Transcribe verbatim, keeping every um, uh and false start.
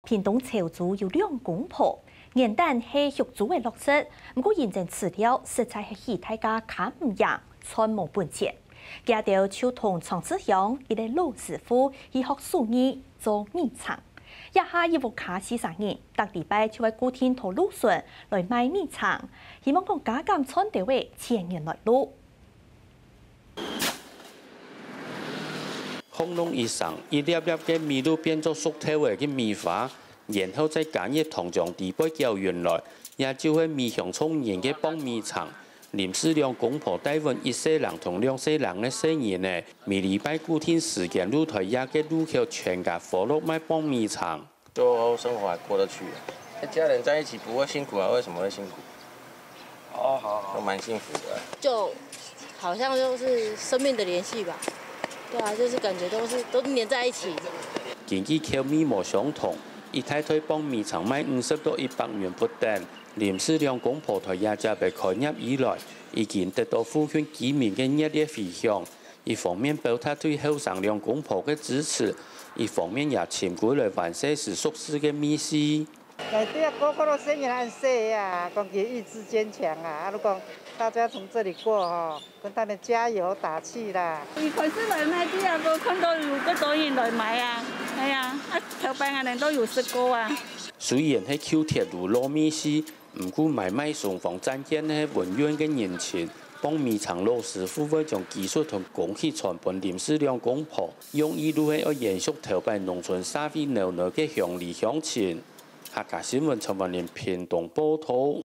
屏東潮州有兩公婆，原旦係畜豬个落實，毋過因爭飼料實在係起大價較毋贏，賺無本錢。佢兜就同莊志祥一個老師傅去學手藝做米腸。這下一屋下四儕人，逐禮拜就會固定到路脣來賣米腸，希望講加減賺兜仔錢銀來路。轟隆一聲，一粒粒个米就變做熟透个个米花，然後再加熱糖漿底背攪勻來，也就係米香衝人个磅米腸。林氏兩公婆帶分一細人同兩細人个細人仔，每禮拜固定時間就在這个路口全家伙落賣磅米腸。 就生活還過得去啊。家人在一起不會辛苦啊？為什麼會辛苦？哦，好，好。都蠻幸福的啊。就好像就是生命的聯繫吧。對啊，就是感覺都是，都黏在一起。經濟口味無相同，一大袋磅米腸賣五十到一百元不等。林氏兩公婆在這接个開業以來，已經得到附近居民个熱烈回響。 一方面表達對後生兩公婆个支持，一方面也尋歸來還細時熟事个味緒。內底啊，個個都細人恁細啊，講佢意志堅強啊，啊，就講大家從這裡過吼，跟他們加油打氣啦。一開始來賣个啊，都看到有幾多人來買啊，哎呀，啊，頭擺恁樣都有食過啊。雖然係舊鐵路老味緒， 毋過買賣雙方贊見个係文員个人情，磅米腸老師傅會將技術同工具傳分林氏兩公婆，用意就係愛延續頭擺農村社會鬧鬧个鄉里鄉情。客家新聞陳文林屏東報導。